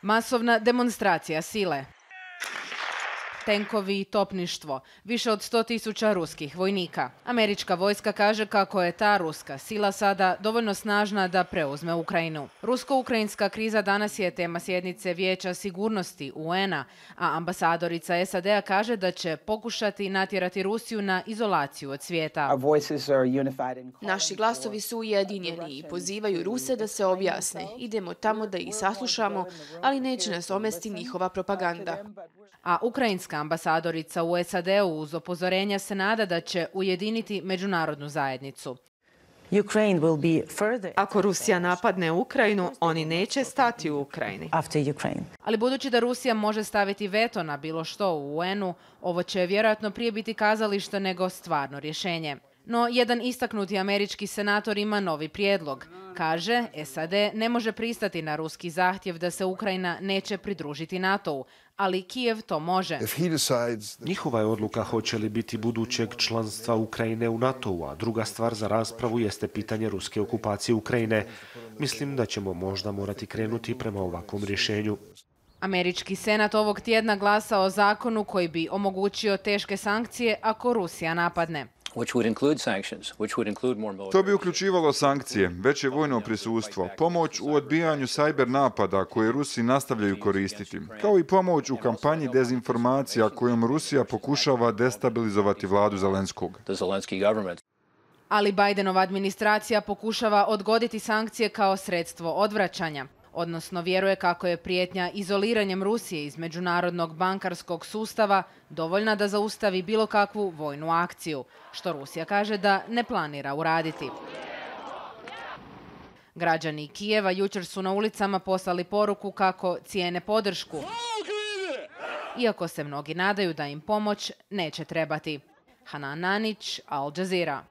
Masovna demonstracija sile. Tenkovi i topništvo, više od 100.000 ruskih vojnika. Američka vojska kaže kako je ta ruska sila sada dovoljno snažna da preuzme Ukrajinu. Rusko-ukrajinska kriza danas je tema sjednice Vijeća sigurnosti UN-a, a ambasadorica SAD-a kaže da će pokušati natjerati Rusiju na izolaciju od svijeta. Naši glasovi su ujedinjeni i pozivaju Ruse da se objasne. Idemo tamo da ih saslušamo, ali neće nas omesti njihova propaganda. A ukrajinska ambasadorica u SAD-u uz upozorenja se nada da će ujediniti međunarodnu zajednicu. Ako Rusija napadne Ukrajinu, oni neće stati u Ukrajini. Ali budući da Rusija može staviti veto na bilo što u UN-u, ovo će vjerojatno prije biti kazalište nego stvarno rješenje. No, jedan istaknuti američki senator ima novi prijedlog. Kaže, SAD ne može pristati na ruski zahtjev da se Ukrajina neće pridružiti NATO-u, ali Kijev to može. Njihova je odluka hoće li biti budućeg članstva Ukrajine u NATO-u, a druga stvar za raspravu jeste pitanje ruske okupacije Ukrajine. Mislim da ćemo možda morati krenuti prema ovakvom rješenju. Američki senat ovog tjedna glasa o zakonu koji bi omogućio teške sankcije ako Rusija napadne. To bi uključivalo sankcije, veće vojno prisustvo, pomoć u odbijanju cyber napada koje Rusi nastavljaju koristiti, kao i pomoć u kampanji dezinformacija kojom Rusija pokušava destabilizovati vladu Zelenskog. Ali Bidenova administracija pokušava odgoditi sankcije kao sredstvo odvraćanja. Odnosno vjeruje kako je prijetnja izoliranjem Rusije iz međunarodnog bankarskog sustava dovoljna da zaustavi bilo kakvu vojnu akciju, što Rusija kaže da ne planira uraditi. Građani Kijeva jučer su na ulicama poslali poruku kako cijene podršku, iako se mnogi nadaju da im pomoć neće trebati. Hanan Nanić, Al Jazeera.